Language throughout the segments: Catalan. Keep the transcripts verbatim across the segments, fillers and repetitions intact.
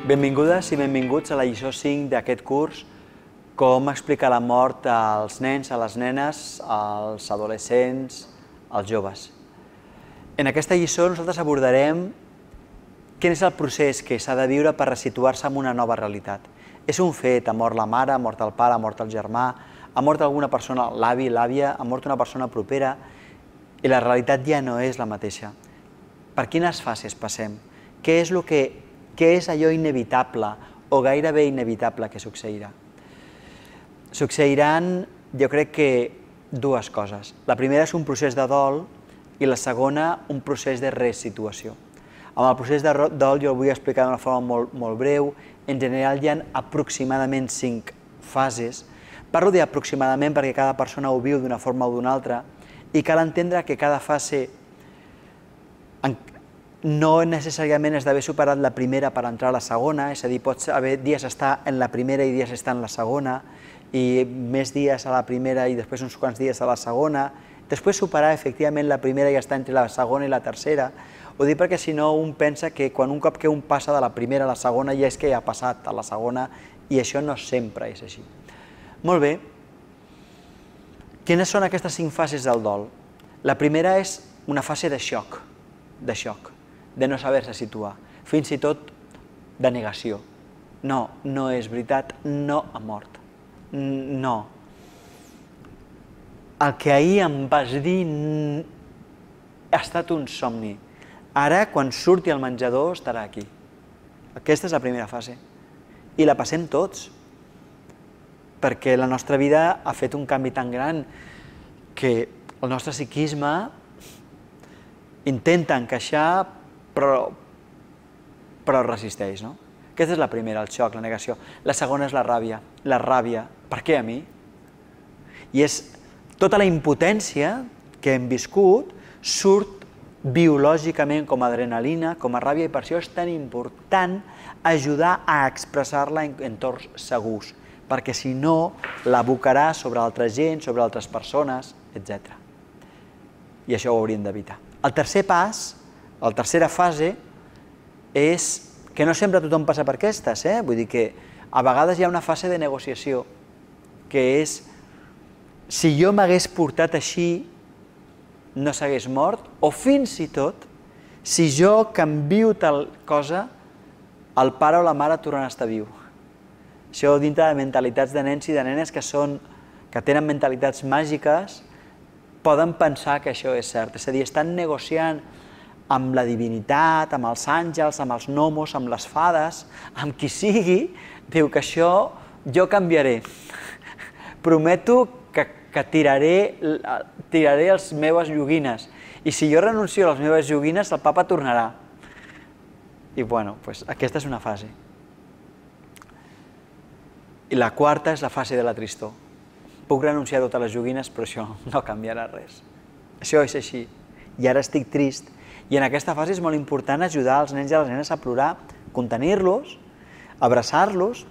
Benvingudes i benvinguts a la lliçó cinc d'aquest curs, com explicar la mort als nens, a les nenes, als adolescents, als joves. En aquesta lliçó nosaltres abordarem quin és el procés que s'ha de viure per resituar-se en una nova realitat. És un fet, ha mort la mare, ha mort el pare, ha mort el germà, ha mort alguna persona, l'avi, l'àvia, ha mort una persona propera, i la realitat ja no és la mateixa. Per quines fases passem? Què és el que Què és allò inevitable o gairebé inevitable que succeirà? Succeiran, jo crec que, dues coses. La primera és un procés de dol i la segona un procés de resituació. Amb el procés de dol jo el vull explicar d'una forma molt, molt breu. En general hi ha aproximadament cinc fases. Parlo d'aproximadament perquè cada persona ho viu d'una forma o d'una altra i cal entendre que cada fase no necessàriament has d'haver superat la primera per entrar a la segona, és a dir, pots haver dies estar en la primera i dies estar en la segona, i més dies a la primera i després uns quants dies a la segona, després superar efectivament la primera i estar entre la segona i la tercera. Ho dic perquè si no un pensa que quan un cop que un passa de la primera a la segona ja és que ja ha passat a la segona, i això no sempre és així. Molt bé. Quines són aquestes cinc fases del dol? La primera és una fase de xoc, de xoc. de no saber-se situar, fins i tot de negació. No, no és veritat, no ha mort. No. El que ahir em vas dir ha estat un somni. Ara, quan surti al menjador, estarà aquí. Aquesta és la primera fase. I la passem tots, perquè la nostra vida ha fet un canvi tan gran que el nostre psiquisme intenta encaixar Però, però resisteix, no? Aquesta és la primera, el xoc, la negació. La segona és la ràbia. La ràbia. Per què a mi? I és tota la impotència que hem viscut surt biològicament com a adrenalina, com a ràbia, i per això és tan important ajudar a expressar-la en entorns segurs, perquè si no l'abocarà sobre altra gent, sobre altres persones, etcètera. I això ho hauríem d'evitar. El tercer pas, la tercera fase és que no sempre tothom passa per aquestes, eh? Vull dir que a vegades hi ha una fase de negociació, que és si jo m'hagués portat així no s'hagués mort, o fins i tot si jo canvio tal cosa el pare o la mare tornen a estar viu. Això dintre de mentalitats de nens i de nenes que són, que tenen mentalitats màgiques, poden pensar que això és cert, és a dir, estan negociant amb la divinitat, amb els àngels, amb els gnomos, amb les fades, amb qui sigui, diu que això jo canviaré. Prometo que, que tiraré, tiraré les meves joguines, i si jo renuncio a les meves joguines, el papa tornarà. I bueno, doncs aquesta és una fase. I la quarta és la fase de la tristor. Puc renunciar a totes les joguines, però això no canviarà res. Això és així. I ara estic trist. I en aquesta fase és molt important ajudar els nens i les nenes a plorar, contenir-los, abraçar-los.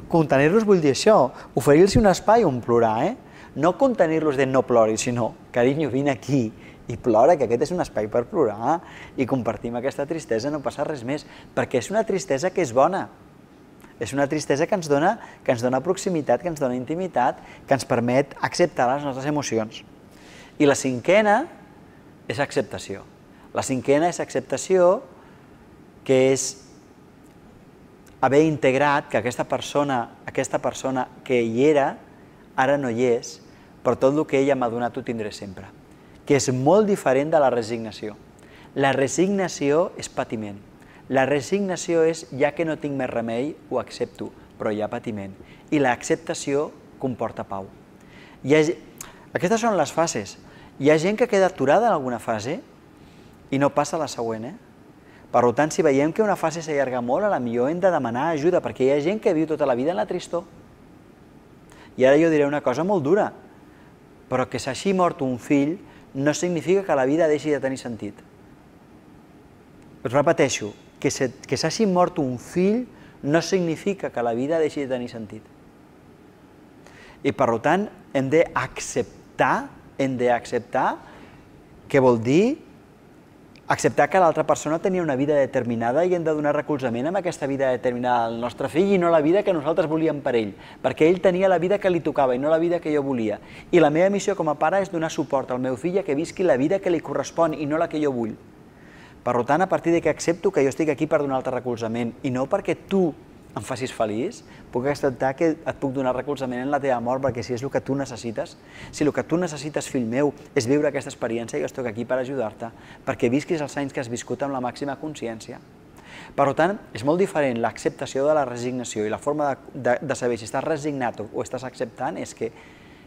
Contenir-los vull dir això, oferir-los un espai on plorar, eh? No contenir-los de no ploris, sinó, carinyo, vine aquí i plora, que aquest és un espai per plorar, i compartim aquesta tristesa, no passa res més, perquè és una tristesa que és bona. És una tristesa que ens dona, que ens dona proximitat, que ens dona intimitat, que ens permet acceptar les nostres emocions. I la cinquena és acceptació. La cinquena és acceptació, que és haver integrat que aquesta persona, aquesta persona que hi era, ara no hi és, però tot el que ella m'ha donat ho tindré sempre. Que és molt diferent de la resignació. La resignació és patiment. La resignació és, ja que no tinc més remei, ho accepto, però hi ha patiment. I l'acceptació comporta pau. Aquestes són les fases. Hi ha gent que queda aturada en alguna fase i no passa a la següent, eh? Per tant, si veiem que una fase s'allarga molt, potser hem de demanar ajuda, perquè hi ha gent que viu tota la vida en la tristor. I ara jo diré una cosa molt dura, però que s'hagi mort un fill no significa que la vida deixi de tenir sentit. Us repeteixo, que s'hagi mort un fill no significa que la vida deixi de tenir sentit. I per tant, hem d'acceptar, hem d'acceptar què vol dir Acceptar que l'altra persona tenia una vida determinada i hem de donar recolzament amb aquesta vida determinada al nostre fill i no la vida que nosaltres volíem per ell, perquè ell tenia la vida que li tocava i no la vida que jo volia. I la meva missió com a pare és donar suport al meu fill a que visqui la vida que li correspon i no la que jo vull. Per tant, a partir de que accepto que jo estic aquí per donar-te recolzament i no perquè tu em facis feliç, puc acceptar que et puc donar recolzament en la teva mort, perquè si és el que tu necessites, si el que tu necessites, fill meu, és viure aquesta experiència, jo estic aquí per ajudar-te, perquè visquis els anys que has viscut amb la màxima consciència. Per tant, és molt diferent l'acceptació de la resignació i la forma de, de, de saber si estàs resignat o estàs acceptant és que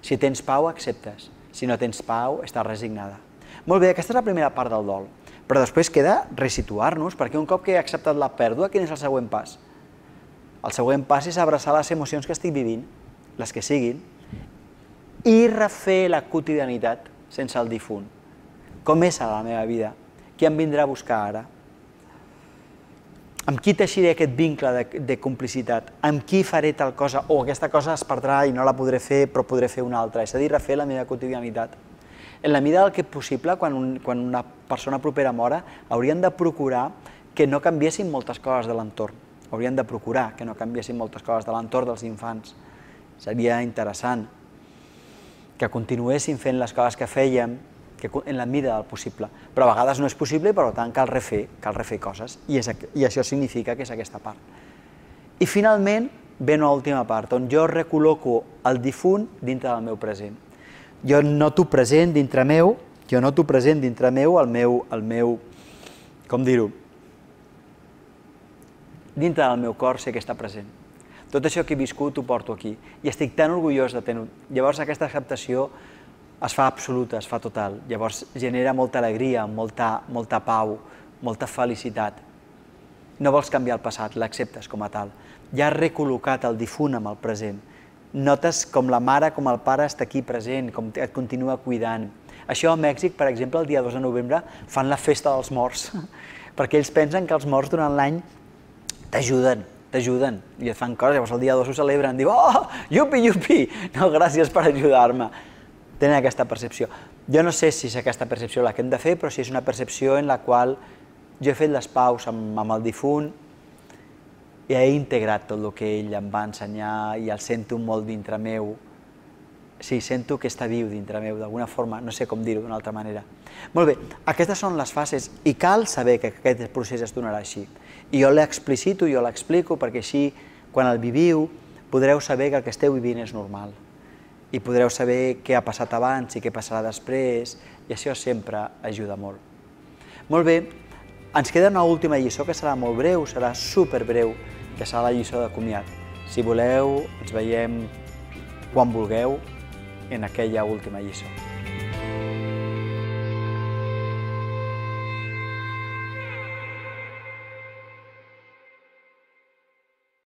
si tens pau, acceptes. Si no tens pau, estàs resignada. Molt bé, aquesta és la primera part del dol, però després queda resituar-nos, perquè un cop que he acceptat la pèrdua, quin és el següent pas? El següent pas és abraçar les emocions que estic vivint, les que siguin, i refer la quotidianitat sense el difunt. Com és a la meva vida? Qui em vindrà a buscar ara? Amb qui teixiré aquest vincle de, de complicitat? Amb qui faré tal cosa? O aquesta cosa es perdrà i no la podré fer, però podré fer una altra. És a dir, refer la meva quotidianitat. En la mida del que és possible, quan, un, quan una persona propera mora, haurien de procurar que no canviessin moltes coses de l'entorn. Haurien de procurar que no canviessin moltes coses de l'entorn dels infants. Seria interessant que continuéssim fent les coses que fèiem en la mida del possible. Però a vegades no és possible i per tant cal refer, cal refer coses. I, és, I això significa que és aquesta part. I finalment ve una última part, on jo recol·loco el difunt dintre del meu present. Jo noto present dintre meu, jo noto present dintre meu el meu, el meu, com dir-ho, dintre del meu cor sé que està present. Tot això que he viscut ho porto aquí i estic tan orgullós de tenir-ho. Llavors aquesta acceptació es fa absoluta, es fa total. Llavors genera molta alegria, molta, molta pau, molta felicitat. No vols canviar el passat, l'acceptes com a tal. Ja has recol·locat el difunt amb el present. Notes com la mare, com el pare està aquí present, com et continua cuidant. Això a Mèxic, per exemple, el dia dos de novembre fan la festa dels morts, perquè ells pensen que els morts durant l'any t'ajuden, t'ajuden, i et fan coses, llavors el dia dos ho celebren, diu, oh, yupi, yupi, no, gràcies per ajudar-me. Tenen aquesta percepció. Jo no sé si és aquesta percepció la que hem de fer, però si és una percepció en la qual jo he fet les paus amb, amb el difunt i he integrat tot el que ell em va ensenyar i el sento molt dintre meu. Sí, sento que està viu dintre meu, d'alguna forma, no sé com dir-ho d'una altra manera. Molt bé, aquestes són les fases i cal saber que aquest procés es donarà així. I jo l'explicito, jo l'explico, perquè així, quan el viviu, podreu saber que el que esteu vivint és normal. I podreu saber què ha passat abans i què passarà després, i això sempre ajuda molt. Molt bé, ens queda una última lliçó que serà molt breu, serà superbreu, que serà la lliçó de comiat. Si voleu, ens veiem quan vulgueu en aquella última lliçó.